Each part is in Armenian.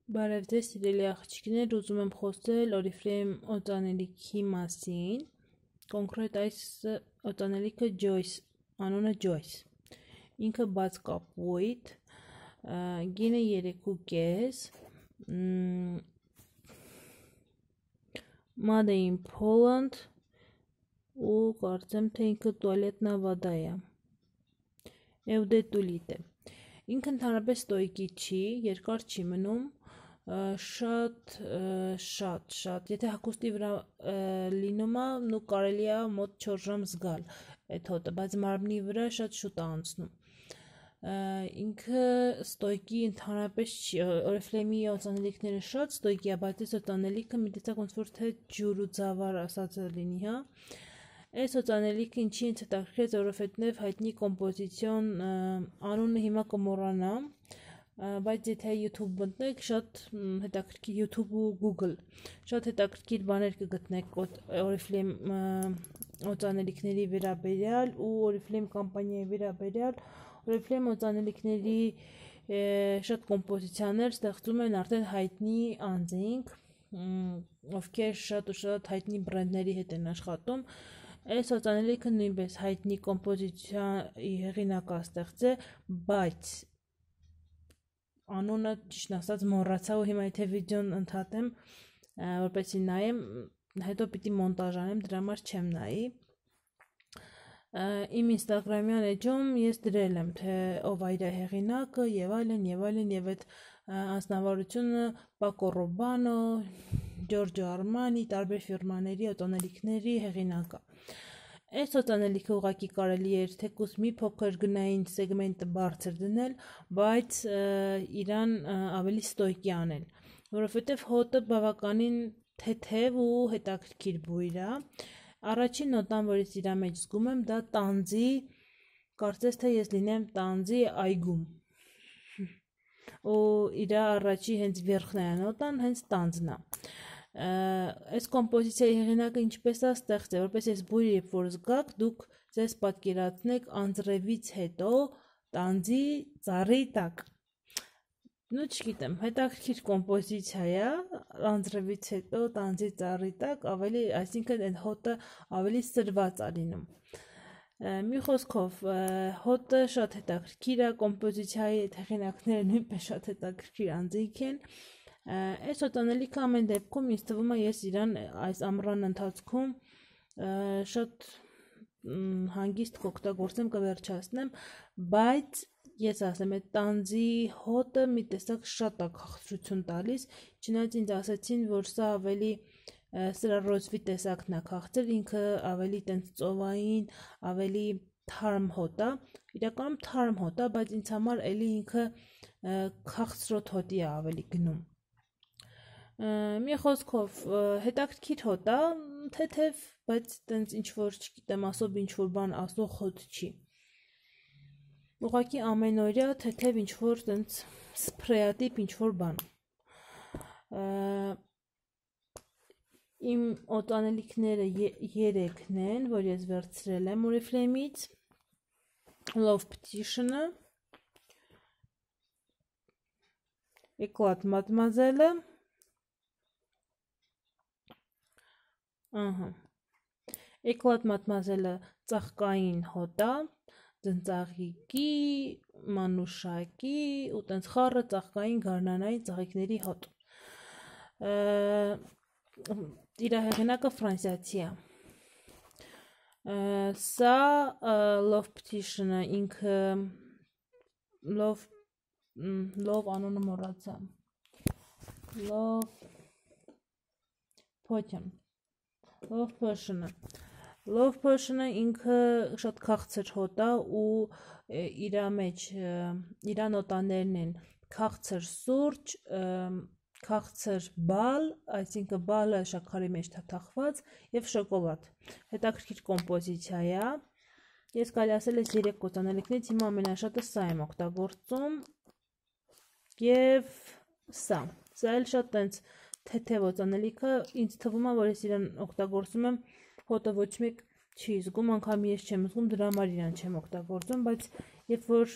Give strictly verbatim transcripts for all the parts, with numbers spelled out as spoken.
Բարև ձեզ սիրելի աղջիկներ, ուզում եմ խոսել Oriflame օծանելիքի մասին, կոնկրետ այս օծանելիքը Joyce, անունը Joyce, ինքը բաց կապույտ, գինը երեք ու կես, Made in Poland ու կարծեմ թե ինքը տուալետնա վադա է, Eudetulite, ինքը ընդհանրապես ստոյկի չի, երկար չի մնում, շատ շատ շատ եթե հագուստի վրա լինում է ու կարելի է մոտ չորս ժամ զգալ այդ հոտը, բայց մարմնի վրա շատ շուտ է անցնում, ինքը ստոյկի ընդհանրապես չի, Oriflame-ի օծանելիքները շատ ստոյկի է, բայց այս օծանելիքը մի տեսակ ոնց որ թե ջուր ու ձավար ասած լինի, հա, այս օծանելիքը ինչի ինձ հետաքրքրեց, որովհետև հայտնի կոմպոզիցիոն անունը հիմա կմոռանամ, բայց եթե YouTube մտնեք, շատ հետաքրքիր YouTube ու Google, շատ հետաքրքիր բաներ կգտնեք Oriflame օծանելիքների վերաբերյալ ու Oriflame կամպանիայի վերաբերյալ, Oriflame օծանելիքների շատ կոմպոզիցիաներ ստեղծում են արդեն հայտնի անձինք, ովքեր շատ ու շատ հայտնի բրենդների հետ են աշխատում, այս օծանելիքը նույնպես հայտնի կոմպոզիցիայի հեղինակը ստեղծե, բայց անունը ճիշտ ասած մոռացա ու հիմա եթե վիդեոն ընդհատեմ, որպեսզի նայեմ, հետո պիտի մոնտաժ անեմ, դրա համար չեմ նայի, իմ ինստագրամյան էջում ես դրել եմ, թե ով է իր հեղինակը եւ այլն եւ այլն եւ այդ անձնավորությունը Paco Rabanne, Giorgio Armani, տարբեր ֆիրմաների օծանելիքների հեղինակը։ Այս օծանելիքը ուղղակի կարելի էր թեկուզ մի փոքր գնային սեգմենտը բարձր դնել, բայց իրան ավելի ստոյկի անել, որովհետև հոտը բավականին թեթև ու հետաքրքիր բույր է, առաջին նոտան, որից իր մեջ զգում եմ, դա տանձի, կարծես թե ես լինեմ տանձի այգում, ու իր առաջի հենց վերջն է նոտան, հենց տանձն է, այս կոմպոզիցիայի հեղինակը ինչպես է ստեղծել, որպես այս բույրը երբ որ զգաք, դուք ձեզ պատկերացնեք անձրևից հետո տանձի ծառի տակ, նու չգիտեմ, հետաքրքիր կոմպոզիցիա է, անձրևից հետո տանձի ծառի տակ, ավելի, այսինքն այդ հոտը ավելի սրված է լինում, մի խոսքով, հոտը շատ հետաքրքիր է, կոմպոզիցիայի հեղինակները նույնպես շատ հետաքրքիր անձինք են, այս օծանելիքը ամեն դեպքում ինձ թվում է ես իրան այս ամռան ընթացքում շատ հանգիստ կօգտագործեմ, կվերջացնեմ, բայց ես ասեմ, այդ տանձի հոտը մի տեսակ շատ է քաղցրություն տալիս, չնայած ինձ ասացին, որ սա ավելի սրա ռոզվի տեսակն է քաղցր, ինքը ավելի տենց ծովային, ավելի թարմ հոտ է, իրականում թարմ հոտ է, բայց ինձ համար էլի ինքը քաղցրոտ հոտի է ավելի գնում, մի խոսքով հետաքրքիր հոտ է, թեթև, բայց տենց ինչ-որ, չգիտեմ, ասով ինչ-որ բան ասող հոտ չի, ուղղակի ամենօրյա թեթև ինչ-որ տենց սփրեատիպ ինչ-որ բան, իմ օծանելիքները երեքն են, որ ես վերցրել եմ Oriflame-ից, Love Petition-ը, Eclat Mademoiselle-ը, ահա, Eclat Mademoiselle-ը ծաղկային հոտ է, ձնծաղիկի, մանուշակի ու տենց խառը ծաղկային գարնանային ծաղիկների հոտ, իր հեղինակը ֆրանսիացի է, սա Love Petition-ը ինքը Love, Love անունը մոռացա, Love Potion, Love Potion-ը, Love Potion-ը ինքը շատ քաղցր հոտ է ու իր մեջ, իր նոտաներն են քաղցր սուրճ, քաղցր բալ, այսինքն բալը շաքարի մեջ թաթախված և շոկոլադ, հետաքրքիր կոմպոզիցիա է, ես կարելի ասել ես երեք օծանելիքներից հիմա ամենաշատը սա եմ օգտագործում և սա, սա էլ շատ տենց թեթև օծանելիքը, ինձ թվում է, որ ես իրան օգտագործում եմ, հոտը ոչ մեկ չի զգում, անգամ ես չեմ զգում, դրա համար իրան չեմ օգտագործում, բայց երբ որ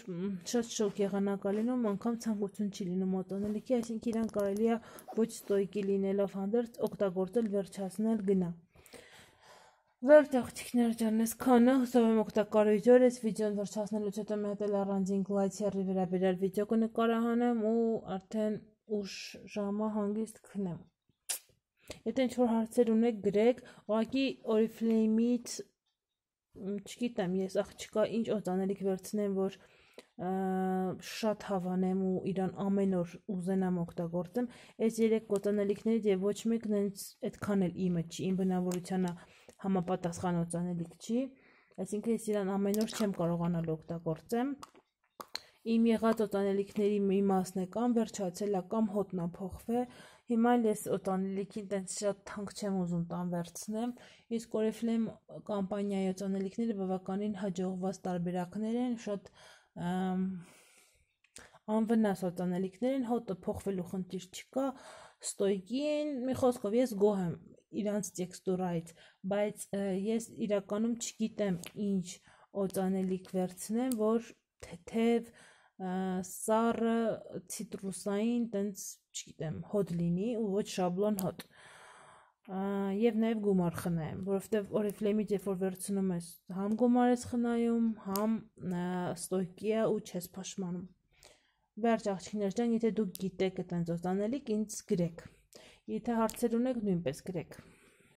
շատ շոկ եղանակ է լինում, անգամ ցանկություն չի լինում օծանելիքի, այսինքն իրան կարելի է ոչ ստոյկի լինելով հանդերձ օգտագործել, վերջացնել, գնա։ Վերջ աղջիկներ ջան, այսքանը, հուսով եմ օգտակար այս վիդեոն վերջացնելուց հետո մի հատ էլ առանձին գլայթերի վերաբերյալ վիդեո կնկարահանեմ ու արդեն ուշ ժամը հանգիստ քնեմ։ Եթե ինչ-որ հարցեր ունեք, գրեք, ուղղակի Oriflame-ից չգիտեմ, ես աղջիկա ինչ օծանելիք վերցնեմ, որ շատ հավանեմ ու իրան ամեն օր ուզենամ օգտագործեմ, այս երեք օծանելիքներից եւ ոչ մեկն այդքան էլ իմը չի, իմ բնավորությանը համապատասխան օծանելիք չի, այսինքն ես իրան ամեն օր չեմ կարողանալ օգտագործեմ։ Իմ եղած օծանելիքների մի մասն է կամ վերջացել է կամ հոտնա փոխվել, հիմա ես օծանելիքին տենց շատ թանկ չեմ ուզում տան վերցնեմ, իսկ Oriflame կամպանիայի օծանելիքները բավականին հաջողված տարբերակներ են, շատ անվնաս օծանելիքներ են, հոտը փոխվելու խնդիր չկա, ստոյկի են, մի խոսքով ես գոհ եմ իրանց տեքստուրայից, բայց ես իրականում չգիտեմ ինչ օծանելիք վերցնեմ, որ թեթև, սառը, ցիտրուսային, տենց, չգիտեմ, հոտ լինի ու ոչ շաբլոն հոտ։ Եվ նաև գումար խնայեմ, որովհետև Oriflame-ից երբ որ վերցնում ես, համ գումար ես խնայում, համ ստոյկի է ու չես փոշմանում։ Վերջ աղջիկներ ջան, եթե դուք գիտեք այտենց օծանելիք, ինձ գրեք։ Եթե հարցեր ունեք, նույնպես գրեք։